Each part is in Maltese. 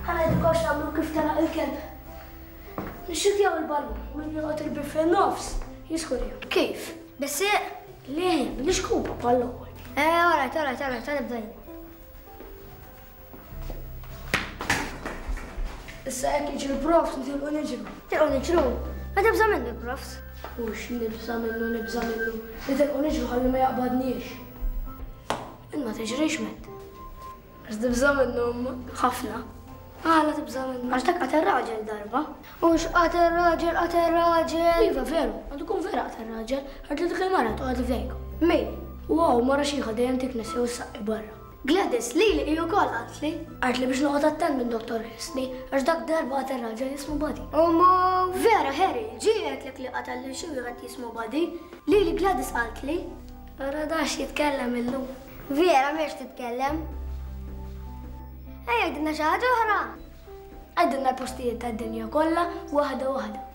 Ħa ngħidilkom x'nagħmlu kif telaq il-kelb. Nixxutjaw il-ballun u min jolqot il-bieb fin-nofs jiskurja. Kif? Bis-sieq? Le, bl-ixkupa bħall-ewwel. Eh, alright, alright, alright, ħa nibda jien. Issa hekk jiġi l-profs nitilqu niġru. Tilqu niġru? Ma tibża' minnu l-profs? Hux nibża' minnu, nibża' minnu. Nitilqu niġru ħalli ma jaqbadniex. Int ma tiġrix Matt. Għax tibża' minnu imma. Ħafna. Għala tibża' minnu? Għax dak qatel raġel darba. Hux qatel raġel, qatel raġel. Iva veru, għandu jkun vera qatel raġel, għax dik il-mara toqgħod f'dejkom. Min? Wow, mara xiħa dejjem tiknes jew issaqqi barra. Gladys, lili hi wkoll qaltli. Qaltli biex noqgħod attent minn Dottor Ħisni, għax dak darba qatel raġel jismu Buddy. U ma vera Harry, ġie għedtlek li qatel lil xi wieħed jismu Buddy? Lili Gladys qaltli. Ara da x'jitkellem illum. Vera m'hiex titkellem. Ejja għidilna xi ħaġa oħra. Għidilna l-postijiet tad-dinja kollha waħda waħda.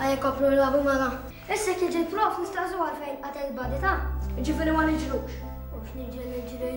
Ejja nkomplu nilagħbu mela. Issa jekk jiġi l-prof nistaqsuh għalfejn qatel Buddy ta. Jiġifieri ma niġrux. Mhux niġri niġri.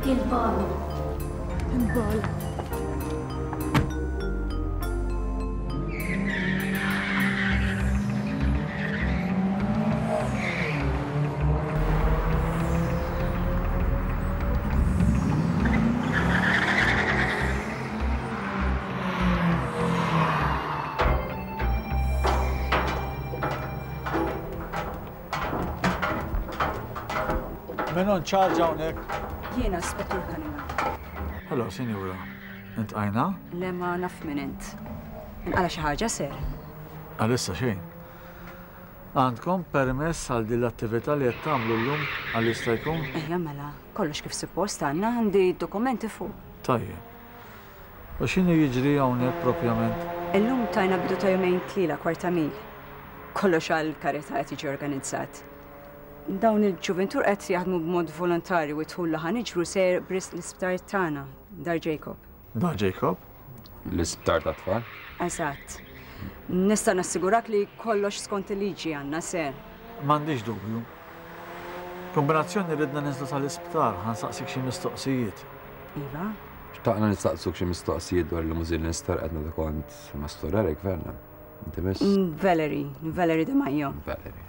Il-bala. Il-bala. Min hu in charge hawnhekk? Jiena, Spettur Cunningham. Hello, sinjura. Intqajna? Le ma naf min int. Inqala' xi ħaġa, sir? Għalissa xejn. Għandkom permess għal din l-attività li qed tagħmlu llum għal jista' jkun? Ejja mela, kollox kif suppost għandna, għandi d-dokumenti fuq. Tajjeb. U x'inhu jiġri hawnhekk propjament? Illum tajna bidu ta' jumejn tliela kwarta mil. Kollox għall-karità qed jiġi organizzat. Dawn il-ġuvintur qed jaħdmu b'mod volontarju u d-dħul li ħa niġbru sejjer b'risq l-isptar tagħna, Dar Jacob. Dar Jacob? L-isptar tat-tfal? Eżatt. Nista' nassigurak li kollox skont il-liġi għandna, sir. M'għandix dubju. Kombinazzjoni ridna ninżlu sal-isptar ħa nsaqsik xi mistoqsijiet. Iva? Xtaqna nistaqsuk xi mistoqsijiet dwar il-limużin li nsterqet meta kont ma' Stur Eric, Verna. Inti miss? Valerie, Valerie De Maio. Valerie.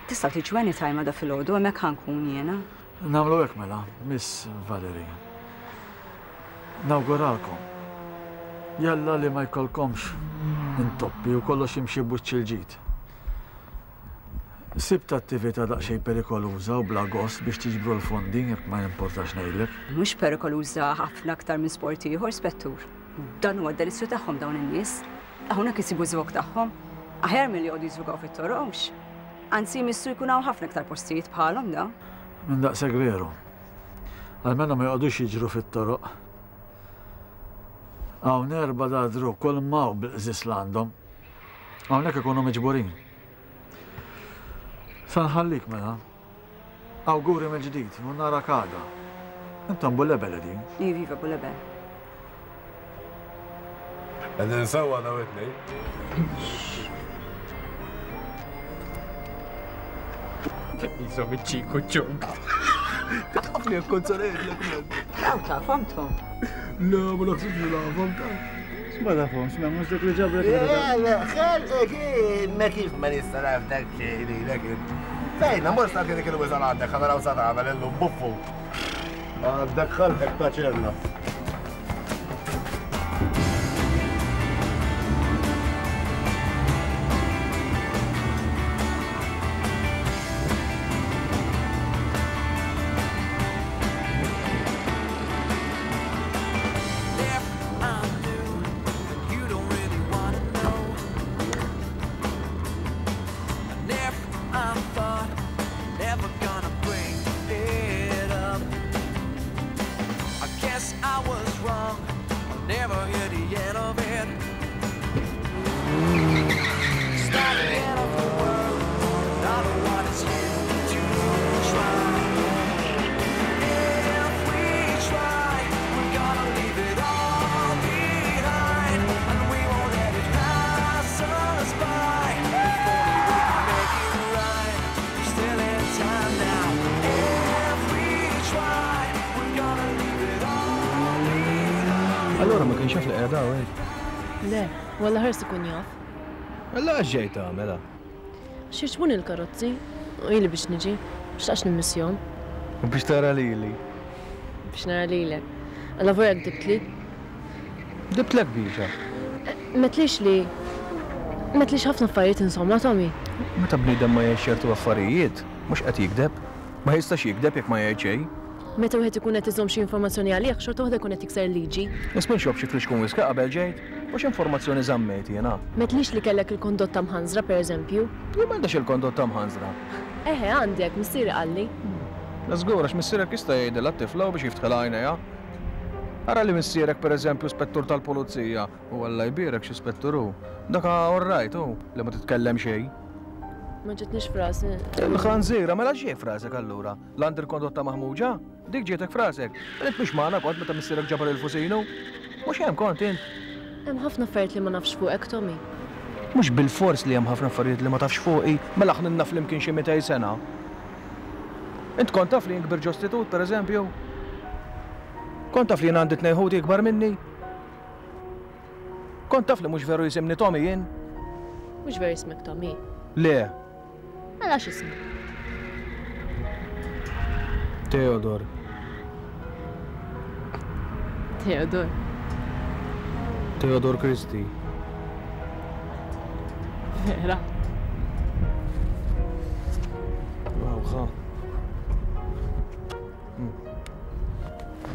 Tistgħu tiġu anytime għada filgħodu, hemmhekk ħa nkun jiena. Nagħmlu hekk mela, Miss Valerie. Nawguralkom. Jalla li ma jkollkomx intoppi u kollox jimxi b'wiċċ il-ġid. Sibt attività daqsxejn perikoluża u bla gost biex tiġbru l-fondi, jekk ma jimportax ngħidlek. Mhux perikoluża ħafna aktar minn sport ieħor, Spettur. Dan huwa d-delizzju tagħhom dawn in-nies. Hawnhekk isibu ż-żvog tagħhom. Aħjar milli joqogħdu jiżvugaw fit-toroq, hux? Anzi jmissu jkun hawn ħafna iktar postijiet bħalhom dawn. Minn daqshekk veru. Almenu ma joqogħdux jiġru fit-toroq. Hawn erbgħa dadru kull m'hawn bil-qżież l-għandhom. Hawnhekk ikunu miġburin. Sa nħallik mela. Awguri mill-ġdid u narak għada. Intom Bulebel qegħdin? Iva, iva, Bulebel. Qegħdin sewwa daw it-tnejn. Jisom iċ-ċiku ċunk. Taf li kont sa ngħidlek man. Daw tafhom Tom. Le, ma naħsibx li nafhom ta. Ma tafhomx, ma mhux dak li ġabrek. Le, ħelqek, ma kif ma nista' naf dak xejn lilek int. Fejna, mur staqsi dik il-wiżgħa għandek ħa naraw sa tagħmel illum buffu. Għandek ħalqek ta' ċella. Allora ma kienx jaf li qiegħda hawn hekk? Le, walla ħars ikun jaf. Alla għax ġej tagħmel? Għax jogħġbuni l-karozzi u ili biex niġi, xtaqx nimmissjahom. U biex tara lili. Biex nara lilek. Alla vorja gdibtli. Gdibtlek biex? M'għedtlix li M'għedtlix ħafna affarijiet insomma, Tommy. Meta bniedem ma jgħidx ċertu affarijiet, mhux qed jigdeb. Ma jistax jigdeb jekk ma jgħid xejn. Meta wieħed ikun qed iżomm xi informazzjoni għalih, xorta waħda jkun qed jikser il-liġi. Isma' nxrob xi flixkun whisky qabel ġejt? U x'informazzjoni żammejt jiena? M'għedtlix li kellek il-kondotta mħanżra, pereżempju. Jien m'għandix il-kondotta mħanżra. Eħe, għandek, missieri qalli. Le żgur, għax missierek jista' jgħidilha t-tifla u biex jiftħilha għajnejha. Ara li missierek pereżempju spettur tal-pulizija, u Alla jbierek xi spettur hu. Dak all right hu, li ma titkellem xejn. Ma ġietnix f'rasi. Il-ħanżira, mela x'ġie f'rasek allura? L-għandi l-kondotta maħmuġa? Dik ġietek f'rasek? Mela int mhux magħna kont meta missierek ġabar il-fusinu? Mhux hemm kont int? Hemm ħafna affarijiet li ma nafx fuqek, Tommy. Mhux bilfors li hemm ħafna affarijiet li ma tafx fuqi, mela aħna ilna flimkien xi 200 sena. Int kont taf li jien kbirt ġo istitut, pereżempju? Kont taf li jien għandi tnejn ħuti ikbar minni? Kont taf li mhux veru jisimni Tommy jien? Mhux veru jismek Tommy? Le. Mela x'ismek? Theodor. Theodor. Theodor Christie. Vera. Rawħa.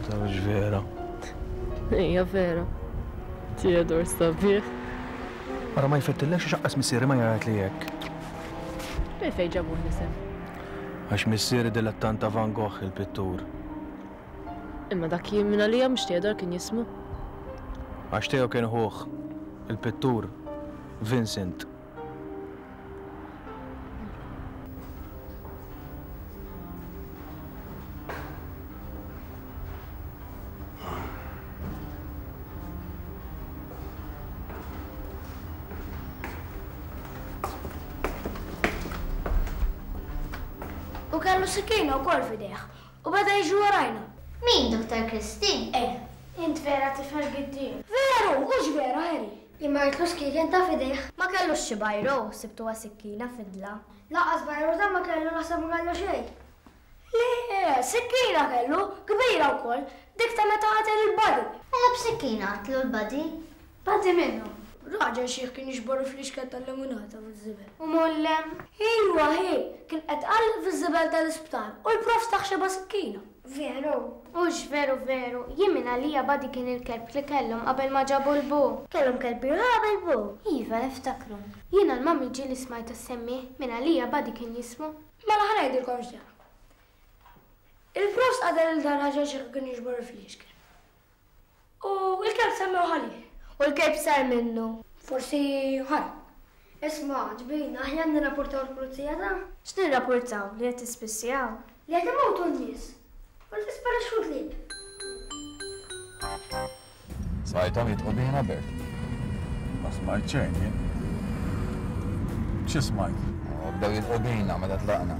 Tafx vera. Ejja vera. Theodor sabiħ. Ara ma jfettillekx għax aqqas missieri ma jgħid li hekk. Minn fejn ġabuh l-isem? Għax missieri dilettant ta' Van Gogh il-pittur. Imma dak jien minn għalija mhux Theodor kien jismu. Għax Theo kien ħuh, il-pittur, Vincent. U kellu sikkina wkoll f'idejh U beda jiġri warajna. Min, Dottor Christie? Eh. Int vera tifel giddieb. Veru! Hux vera, Harry? Jien ma rridlux kien ta' f'idejh. Ma kellux xi bajro, sibtuha sikkina fidla. Lanqas bajro ta' ma kellu naħseb ma kellu xejn. Le, sikkina kellu, kbira wkoll, dik ta' meta qatel il-Buddy. Mela b'sikkina qatlu l-Buddy? Buddy min hu? Raġel xiħ kien jiġbor il-fliexken tal-lemunata miż-żibel. U mollem? Iwa hi, kien qed iqalleb fiż-żibel tal-isptar u l-prof tah xebgħa sikkina. Veru? Hux veru veru, jien minn għalija Buddy kien il-kelb li kellhom qabel ma ġabu l-bu. Kellhom kelb ieħor qabel bu? Iva, niftakru. Jiena l-mummy ġieli smajtha ssemmih, minn għalija Buddy kien jismu. Mela ħa ngħidilkom x'ġara. Il-prof qatel lil dan-raġel xiħ li kien jiġbor il-fliexken. U l-kelb semmewh għalih. U l-kelb sar minnu. Forsi ħarab. Isma', ġbin, aħjar nirrapportaw l-pulizija ta'. X'nirrapportaw? Li qed tispissjaw? Li qed imutu n-nies. U li tisparixxu l-klieb. Smajthom jidħqu bina, Bert? Ma smajt xejn jien. Xi smajt? Bdew jidħqu bina meta tlaqna.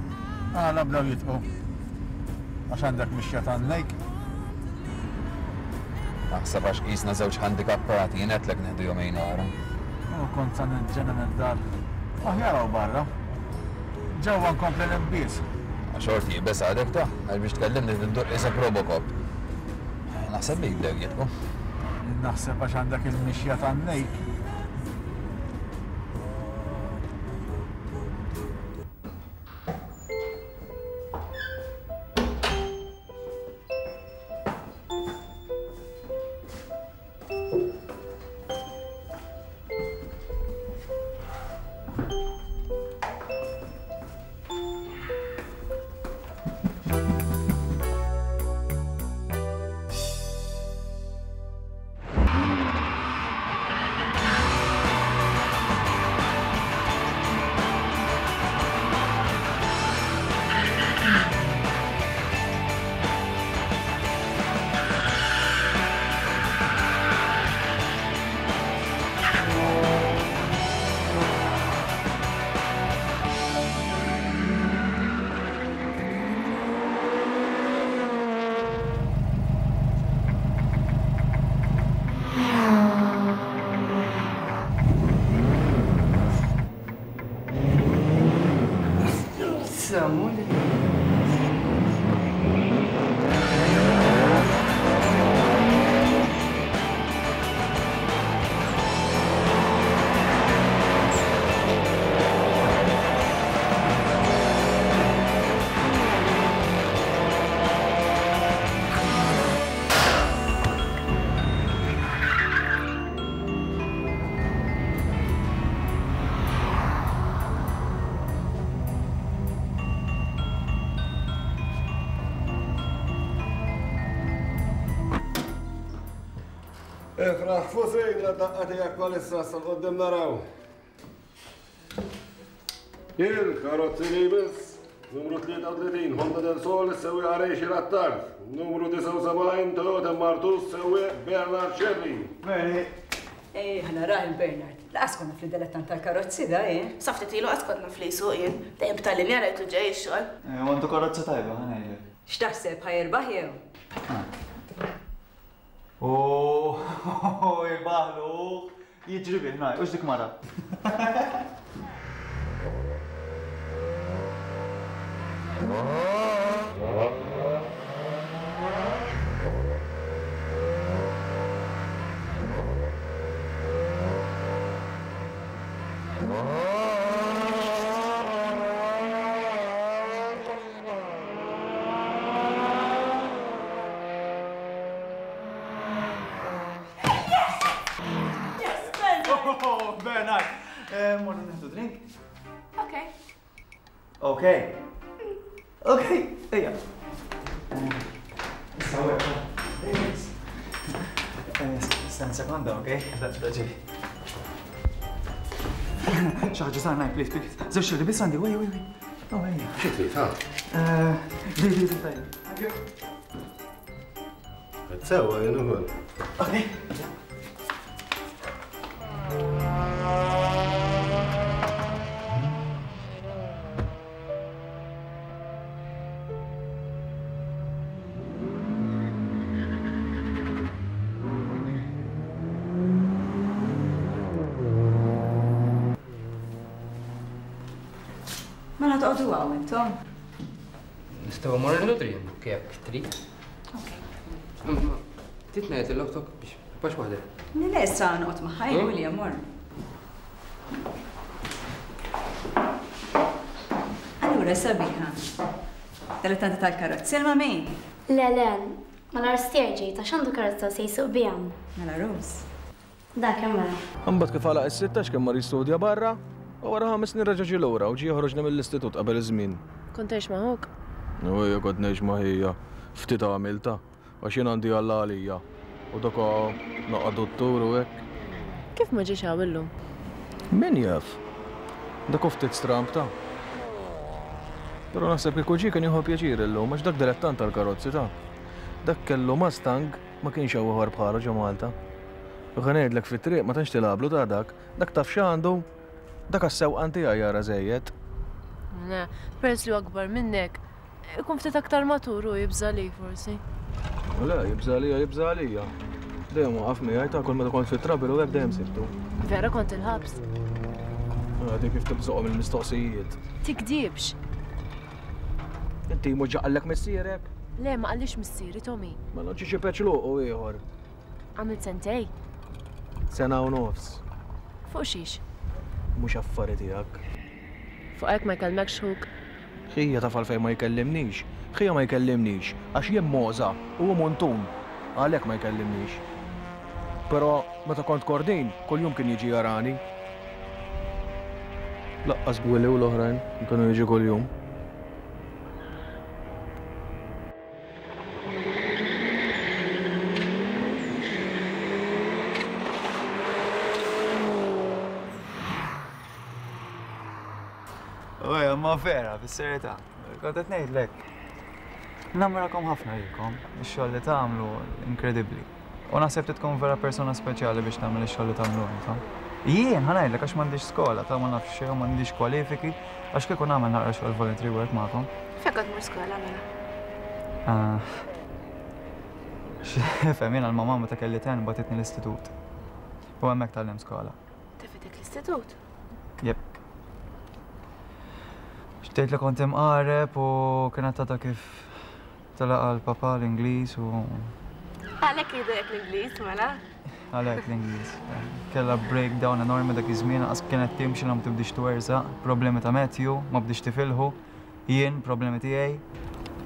Għala bdew jidħqu? Għax għandek mixja tan-nejk? Naħseb għax qisna żewġ ħandikappati, jien għedtlek nieħdu jumejn oħra. U kont sa niġġennen id-dar. Aħjar hawn barra. Ġewwa nkompli ninbies. Xorti iebes għadek ta, għax biex tkellimni trid iddur qisek Robocop. Naħseb bik bdew jidħku. Jien naħseb għax għandek il-mixja tan-nejk. Ifraħ fusejn la daqqa tiegħek bħalissa sa qoddim naraw. Il-karozzi li jmiss, numru 33 Honda del Sol sewwieq Arexi Rattard, numru 79 Toyota Martus sewwieq Bernard Scerri. Bernie. Ej, ħa narah il-Bernard. Laqas kont naf li dilettant tal-karozzi da, jien. Sa ftit ilu qas kont naf li jsuq jien. Dejjem b'tal-linja rajtu ġej ix-xogħol. U għandu karozza tajba, ħa ngħidlek. X'taħseb, ħa jirbaħ jew? Oh, jirbaħlu, jiġri bih, ngħid, hux dik mara. Oh, Bernard! Eh, morru nieħdu drink? Ok. Ok. Ok, ejja. Issa wek. Stenna sekonda, ok? Da ġej. Xi ħaġa żgħar ngħid, please, please. Żewġ xirri biss għandi, wej, wej, wej. Oh, ejja. Xi trid, ha? Di, di, di, tajjeb. Sewa, jien ukoll. Ok. Mela toqgħodu hawn intom? Nistgħu mmorru nieħdu drink jekk trid. Trid ngħid lil oħtok biex tibqax waħdek. Le, le, issa noqgħod magħha jien William, mor. Vera sabiħa. Dilettanta tal-karozzi, il-mami? Le, le, mal-għarus tiegħi ġejt għax għandu karozza u se jsuq biha. Mela Rose. Dak hemm mela. Imbagħad kif għalaq is-sittax kien mar jistudja barra u wara ħames snin reġa' ġie lura u ġie joħroġni mill-istitut qabel iż-żmien. Kont tgħix ma' ħuk? U ejja kont ngħix ma' ħija. Ftit għamiltha. Għax jien għandi Alla għalija. U dak naqa' duttur u hekk. Kif ma ġiex hawn illum? Min jaf? Dak hu ftit stramb ta. Però naħseb kieku ġie kien jieħu pjaċir illum għax dak dilettant tal-karozzi ta. Dak kellu Mustang ma kienx hawn ieħor bħalu ġo Malta. U ħa ngħidlek fit-triq ma tantx tilgħablu ta' dak. Dak taf x'għandu? Dak għas-sewqan tiegħi jara żejjed. Le, peress li hu akbar minnek, ikun ftit aktar matur u jibża' għalik forsi. Le, jibża' għalija, jibża' għalija. Dejjem waqaf miegħi ta' kull meta kont fit-trouble u hekk dejjem sibtu. Vera kont il-ħabs? Għadi kif tibżoqhom il-mistoqsijiet. Tikdibx. Inti mhux ġa qallek missierek? Le, ma qallix missieri, Tommy. Mela ġie xi peċluq u ieħor. Għamilt sentej? Sena u nofs. Fuq xiex? Mhux affari tiegħek. Fuq hekk ma jkellmekx ħuk? Ħija taf għalfejn ma jkellimnix? Ħija ma jkellimnix għax jien mogħża u hu muntun. Għalhekk ma jkellimnix. Però meta kont Kordin, kuljum kien jiġi jarani. Laqqas Willy u l-oħrajn kienu jiġu kuljum. Uja, ma vera, bis-serjetà. Kont qed ngħidlek. Nammirakom ħafna lilkom, ix-xogħol li tagħmlu inkredibbli. U naħseb li tkun vera persuna speċjali biex tagħmel ix-xogħol li tagħmlu intom. Jien ħa ngħidlek għax m'għandix skola, ta' ma nafx xejn u m'għandix kwalifiki, għax kieku nagħmel naqra xogħol voluntary work magħkom. Fejn kont tmur skola mela? Ah. X'ifhem jiena l-mamà meta kelli ten bagħtitni l-istitut. U hemmhekk tgħallimt skola. Tefgħetek l-istitut? Jep. Xtejt li kont imqareb u kienet għadha kif Telaq għal papa l-Ingliż u. Għalhekk jgħidulek l-Ingliż mela? Għalhekk l-Ingliż. Kellha breakdown enormi dak iż-żmien lanqas kienet timxi la ma tibdiex twerżaq, problemi ta' Matthew, ma bdiex tifilħu, jien problemi tiegħi.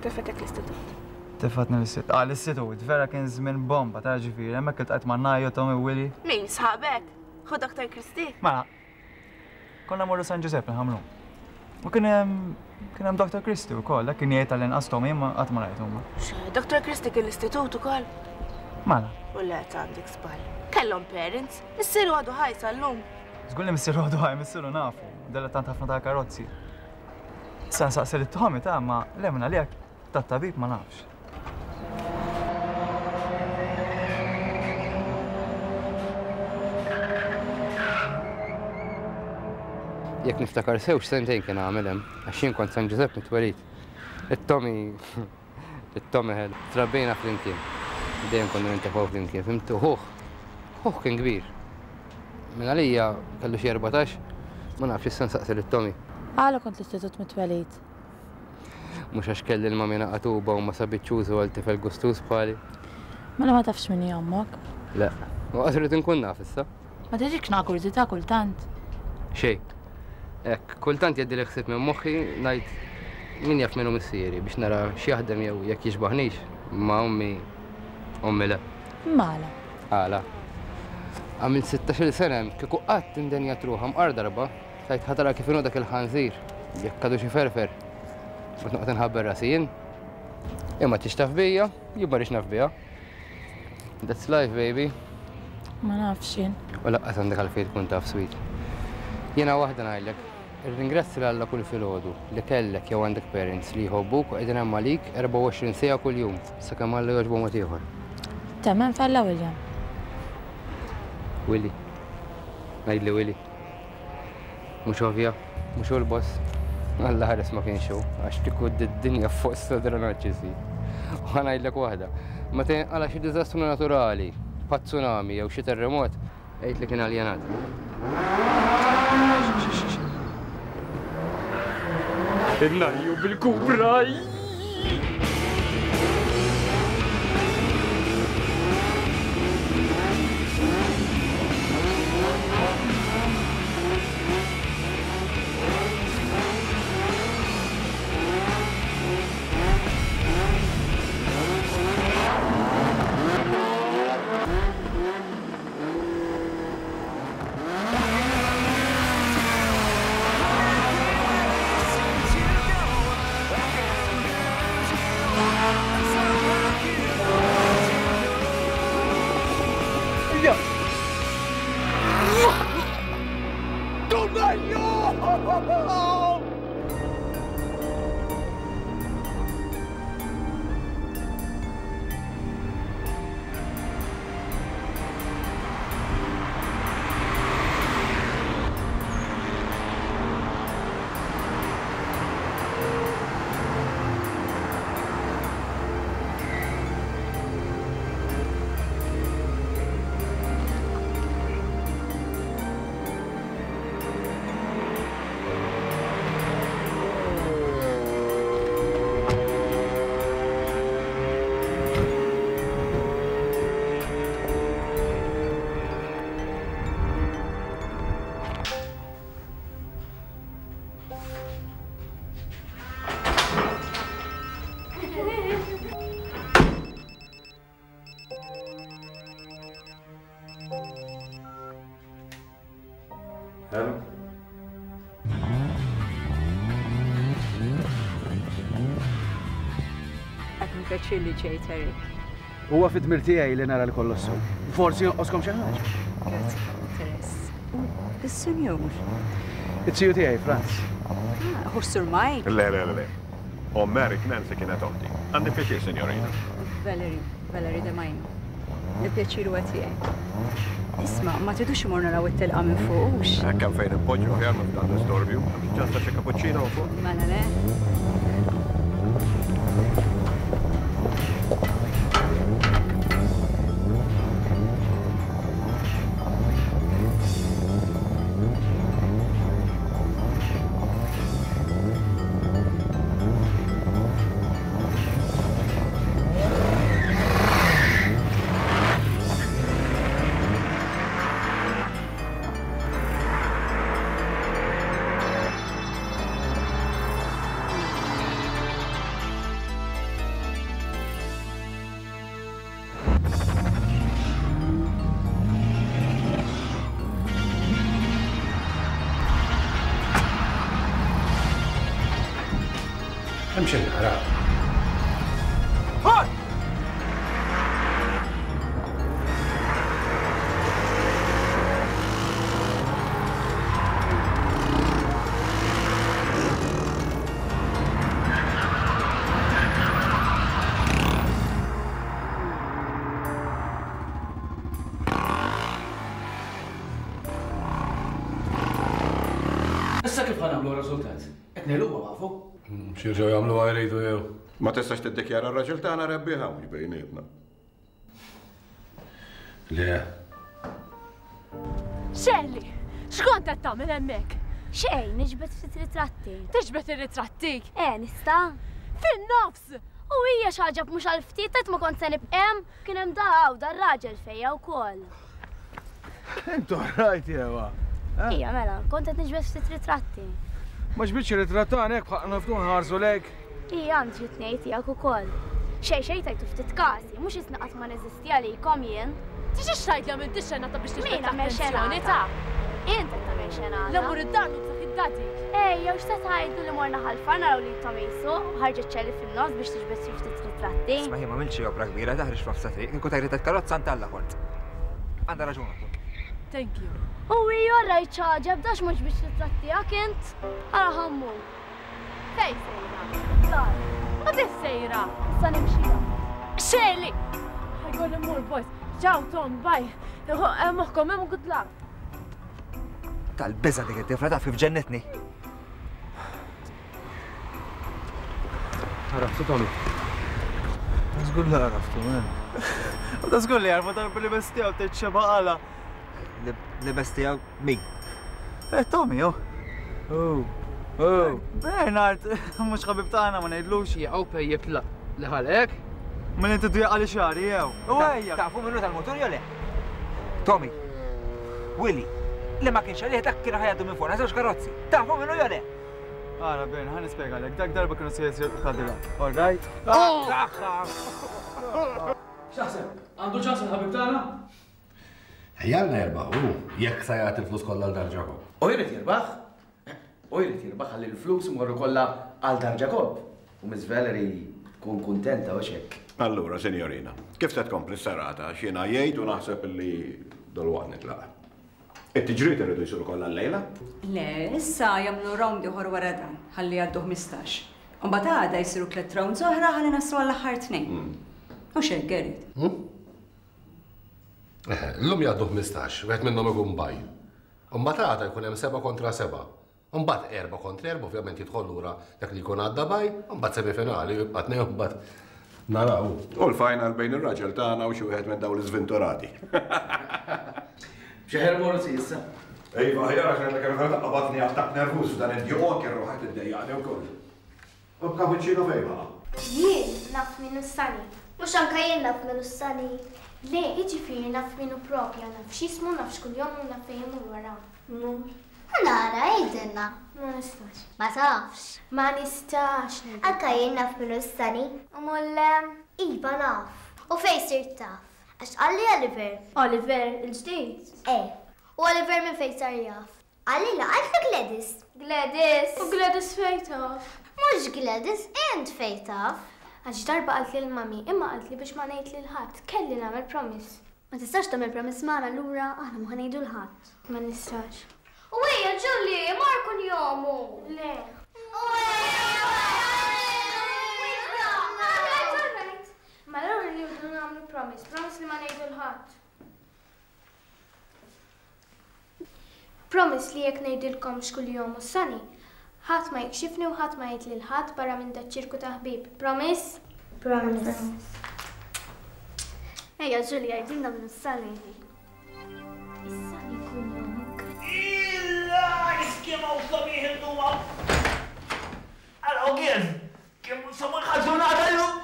Tefgħetek l-istitut. Tefgħetni l-istitut. Ah, l-istitut, vera kien żmien bomba ta' ġifieri, hemmhekk iltqajt ma' Najo, Tommy, Willy. Min, sħabek? Ħu Dr. Christie? Mela, Konna mmorru San Ġużepp il-Ħamrun. U kien hemm kien hemm Dr. Christie wkoll, dak kien jgħid tal-inqas Tommy imma qatt ma rajtu ma. Dr. Christie kien l-istitut ukoll? Mela. U le għandek żball. Kellhom parents, missieru għadu ħaj sal-lum. Żgur li missieru għadu ħaj, missieru nafu, dilettant ħafna tal-karozzi. Issa nsaqsi lil Tommy ta' ma le minn għalih Tat-tabib ma nafx. Jekk niftakar sew x'sentejn kien għamel hemm, għax jien kont San Ġużepp mit-twelid. It-Tommy, it-Tommy ħelu, trabbejna flimkien. Dejjem konna nintefgħu flimkien, fimtu ħuh. Ħuh kien kbir. Minn għalija kellu xi 14, ma nafx issa nsaqsi lit-Tommy. Għala kont l-istitut mit-twelid? Mhux għax kelli l-mami naqatuba u ma sabitx użu għal tifel gustuż bħali. Mela ma tafx min hi ommok? Le, u qas irrid inkun naf issa. Ma tiġikx naqa' kurżità kultant? Xejn. Hekk, kultant jgħaddili ħsieb minn moħħi ngħid min jaf min hu missieri biex nara x'jaħdem jew jekk jixbaħnix, imma ommi, ommi le. Imma għala? Għala? Għamilt sittax-il sena hemm, kieku qatt indenjat ruħha mqar darba, Tgħid ħa tara kif inhu dak il-ħanżir, jekk għadux iferfer. Mhux noqgħod inħabbel rasi jien. Hi ma tridx taf bija, jien ma rridx naf biha. That's life, baby. Ma nafx jien. U laqqas għandek għalfejn tkun taf, sweet. Jiena waħda ngħidlek, irringrazzja 'l Alla kull filgħodu li kellek jew għandek parents li jħobbuk u qegħdin hemm għalik 24 siegħa kuljum, sakemm Alla jogħġbu mod ieħor. Temmen f'Alla, William? Willy. Ngħidli Willy. Mhux ovvja, mhux hu l-boss. Alla ħares ma kienx hu, għax kieku d-dinja fuq sodra narċisi. U ħa ngħidlek waħda, meta jinqala' xi diżastru naturali, bħat tsunami jew xi terremot, għid li kien aljenat. Innajju bil-kubra! Pjaċir li ġejt, Eric. Huwa fid-dmir tiegħi li nara li kollox sew. Forsi jonqoskom xi ħaġa. Grazzi tal-interess. U s-sinjur? It-tiju tiegħi, Franz. Ah, hu Sur Mike? Le, le, le. Omm Eric Nancy kienet oħti. Għandi pjaċir, sinjorina. Valerie, Valerie De Maino. Il-pjaċir huwa tiegħi. Isma', ma tridux imorru naraw it-telqa minn fuq, hux? Hekk hemm fejn inpoġġu aħjar minn f'dan l-istorbju. Hemm xi ċans ta' xi cappuccino hawn fuq? Mela le. Hemm xi nara. Issa kif ħa nagħmlu r-riżultat? Qed ngħiluha nafu. X'jerġgħu jagħmluha jridu jew. Ma tistax tiddikjara r-raġel tagħna rebbieħa mhux bejnietna. Le. Xelli, x'kont qed tagħmel hemmhekk? Xejn, niġbed ftit ritratti. Tiġbed ir-ritratti? Eh, nista'? Fin-nofs! U hija x'għaġeb mhux għal ftit għedt ma kont se nibqem, kien hemm da hawn dar-raġel fejja wkoll. Intu rajt jewa. Eh? Ija mela, kont qed niġbed ftit ritratti. Ma ġbidx ritratt tagħna hekk bħaqna ftu nħarsu lejk. Ija għandi xi tnejn tiegħek ukoll. Xejn xejn tajtu ftit kasi, mhux isni qatt ma neżisti għalikom jien. Tiġix tgħid li għamilt ix-xenata biex tiġbed Min għamel l-attenzjoni xenata? ta'. Int qed tagħmel xenata. La mmur id-dar nubżak id-daddy. Ejja, u x'se tgħidu li morna Ħal Far naraw lil Tommy jsuq u ħarġet Ċelli fin-nofs biex tiġbed xi ftit ritratti? Isma' jien m'għamiltx xi opra kbira, taħriġ f'nofs ta' triq, kieku tajret karozza ntalla kont. Għandha raġun oħtok. Thank you. U hija rajt x'għaġeb dax ma ġbidx ritratt tiegħek int? Ara ħa mmur. Fejn sejra? Dar. Ma kif sejra? Issa nimxija. Xeli! Ħajkolli mmur boys. Ciao Tom, bye. Moħkom hemm good luck. Tal-biża' dik it-tifla taf kif ġennitni. Għaraftu Tommy? Żgur li għaraftu, man. U ta' żgur li għarfu darba li bestijaw tgħid xeba qala. Li bestijaw min? Eh, Tommy, oh. Oh. Oh. Bernard, mhux ħabib tagħna ma ngħidlux. Jaqgħu pejjeb li ħalqek. Minn inti dwieqa li xari jew. U ejja. Tafu minnu tal-motur jew le? Tommy. Willy. Li ma kienx għalih dak kien ħajadu minn fuqna żewġ karozzi. Tafu minnu jew le? Ara, Ben, ħa nispjegalek, dak darba kienu se jisirqu Cadillac, all right? X'taħseb? Għandu ċans il-ħabib tagħna? Ejjalna jirbaħ hu, jekk sa jagħti l-flus kollha l Dar Ġakobb. U jrid jirbaħ. U jrid jirbaħ ħalli l-flus imorru kollha għal Dar Ġakobb. U Miss Valerie tkun kuntenta hux hekk? Allura, sinjorina, kif se tkompli s-serata? Għax jien għajjejt u naħseb li dalwaqt nitlaq. It-tiġriet iridu jsiru kollha llejla? Le, issa jagħmlu round ieħor wara dan, ħalli jgħaddu 15. U mbagħad għada jsiru tlett rounds oħra ħalli naslu għall-aħħar tnejn. Hux hekk, Gerrit? Eħe, llum jgħaddu 15, wieħed minnhom ikun bye. U mbagħad għada jkun hemm sebgħa kontra sebgħa. U mbagħad erbgħa kontra erbgħa, ovvjament jidħol lura dak li jkun għadda bye, u mbagħad semifinali u jibqa' tnejn u mbagħad naraw. U l-final bejn ir-raġel tagħna u xi wieħed minn dawn l-iżventurati. Xi ħer morsi issa. Iva, aħjar għax ngħidlek il-verità qabadni attakk nervuż f'dan id-djuq u anke r-ruħ qed iddejjaqni wkoll. U l-cappuccino fejn baqa'? Jien naf min hu Sunny. Mhux anke jien naf min hu Sunny. Le, jiġifieri naf min hu propja, naf x'jismu, naf x'kunjomu u naf fejn imur wara. Mur. Ħa nara, għidilna. Ma nistax. Ma tafx. Ma nistax ngħidilkom. Anke jien naf min hu Sunny. U Mulle? Iva naf. U fejn sirt taf? Għax qalli Oliver. Oliver, il-ġdid? Eh. U Oliver minn fejn sar jaf? Qalilha, qaltlu Gladys. Gladys! U Gladys fejn taf? Mhux Gladys, int fejn taf. Għax darba qaltli l-mummy, imma qaltli biex ma ngħid lil ħadd. Kelli nagħmel promise. Ma tistax tagħmel promise magħna allura aħna mhu ħa ngħidu 'l ħadd. Ma nistax. U ejja Julie, mar kunjomu! Le. Mela allura rridu nagħmlu promise, promise li ma ngħidu 'l ħadd. Promise li jekk ngħidilkom x'kuljom hu Sunny, ħadd ma jikxifni u ħadd ma jgħid lil ħadd barra minn daċ-ċirku ta' ħbieb. Promise? Promise. Ejja Julia għidilna min hu Sunny. Is-Sunny kuljomok. Illa kemm hawn sabiħ illum hawn. Araw kif! Kemm sabiħa ġurnata llum!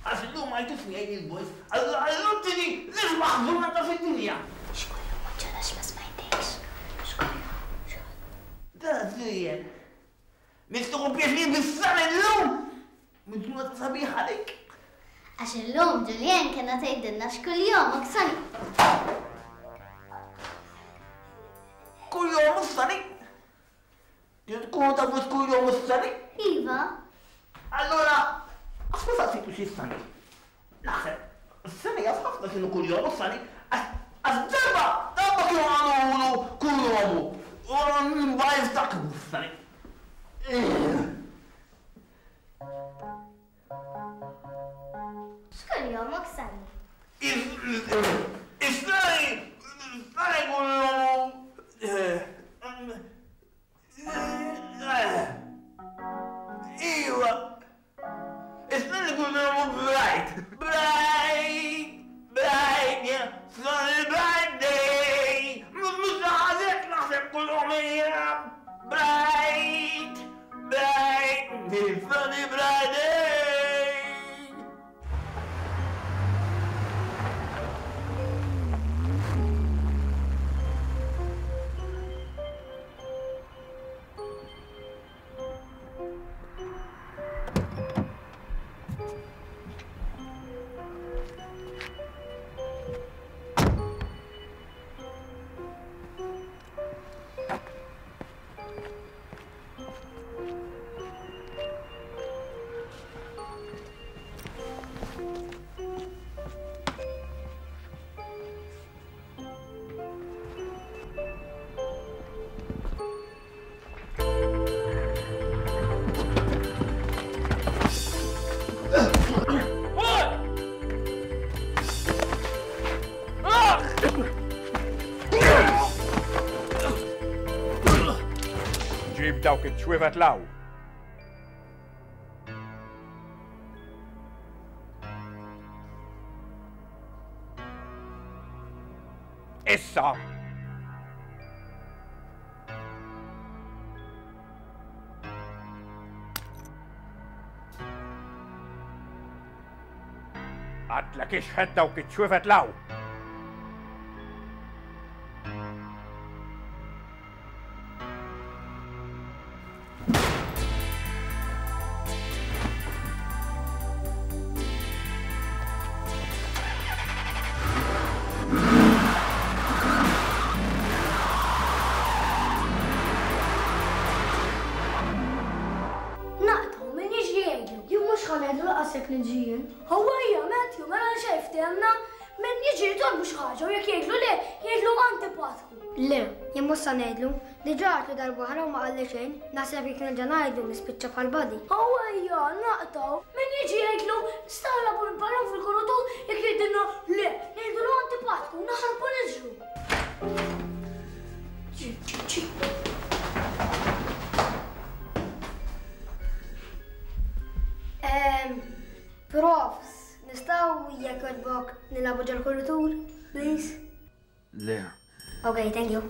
Għax illum ma jtux miegħi il-boys, allura illum tiġi l-isbaħ ġurnata fid-dinja. X'kollu ma ġarax ma smajtekx. X'kollu? X'kollu? Dara żejjed. Nixtiequ pjaċir bis-sena illum! Minn ġurnata sabiħa għalik. Għax illum Julienne kellha tgħidilna x'kuljom Oksana. Kuljom Oksani? Trid tkunu tafu x'kuljom hu s-sani? Iva. Allura, għax ma saqsejtux is-sani? Naħseb, is-sani jaf ħafna x'inhu kuljom hu s-sani, għax darba, darba kienu qalulu kuljomu, u mbagħad jiftakru s-sani. X'kuljomok Sani? Is-sani, is-sani kuljomu. Iwa! Is-sani kuljomu bright! Bright! Bright! Yeah! Sunny bright day! Mhux naħseb naħseb kuljom hija bright! Bright! Sunny bright day! Ġib dawk iċ-ċwievet 'l hawn. Issa! Għadlek ixħet dawk iċ-ċwievet 'l hawn. Naqtgħu min jiġri jgħidlu. Jien mhux ħa ngħidlu lanqas jekk niġi jien. Huwa hija Matthew, mela xejn ftehemna. Min jiġi jitolbu xi ħaġa u jekk jgħidlu le, jgħidlu antipatku. Le, jien mhux sa ngħidlu. Diġà għedtlu darba oħra u ma qalli xejn. Naħseb jekk nerġa' ngħidlu nispiċċa bħal Buddy. Ejja, naqtgħu. Min jiġi jgħidlu nistgħu nilagħbu l-ballun fil-kurutur jekk jgħidilna le, ngħidulu antipatku u naħarbu niġru. Ġi, ġi, ġi. Ehm, profs, nistgħu jekk jogħġbok nilagħbu ġol-kurutur, please? Le. Ok, thank you.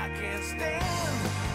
I can't stand.